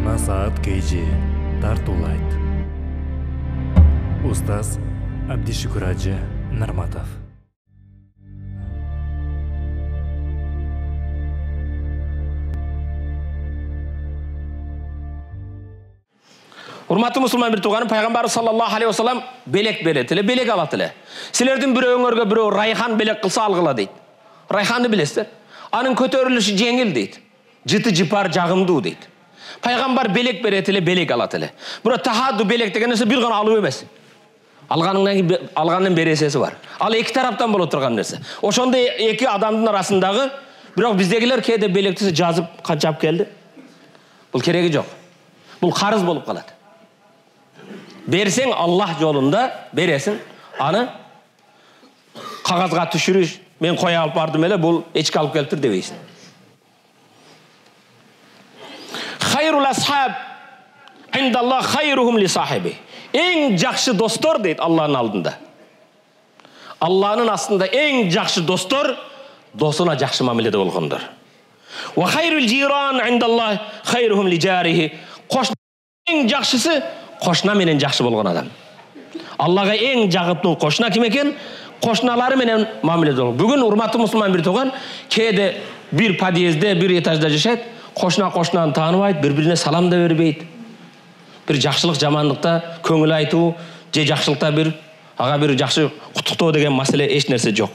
Насаат KG тартуулайт. Устаз Абдишукур Ажы Нарматов. Урматтуу мусулман бир тууганым, пайгамбар саллаллаху алейхи вассалам белек берет эле, белек алат эле. Силердин бирөөңөргө бирөө райхан белек кылса алгыла дейт. Райханды билесиздер? Анын көтөрүлүшү жеңил дейт. Жыты жыпар жагымдуу дейт. Пайгамбар белек берет эле, белек алат эле. Бирок тахадду белек деген нерсе бир гана алуу эмес. Алганын бересеси бар. Ал эки тараптан боло турган нерсе. Ошондо эки адамдын арасындагы, бирок биздегилер кээде белекти жазып канчап келди. Бул кереги жок. Бул карыз болуп калат. Берсең Аллах жолунда бересиң, аны кагазга түшүрүш, мен кой алып бардым эле, бул эчки алып келиптир дебейсиң. Хайрул асхаб индаллах хайрухум ли сахиби. Эң жакшы достор дейт Алланын алдында. Алланын астында эң жакшы достор досуна жакшы мамиледе болгондор. Ва хайрул жиран индаллах хайрухум ли жарихи. Эң жакшысы кошуна менен жакшы болгон адам. Аллага эң жагыптуу кошуна ким экен? Кошуналары менен мамиледе болгон. Бүгүн урматтуу мусулман бир тууган, кээде бир подъездде, бир этажда жашайт, кошунаны тааныбайт, бири-бирине салам да бербейт. Бир жакшылык жамандыкта көңүл айтуу, же жакшылыкта ага бир жакшы куттуктоо деген маселе эч нерсе жок.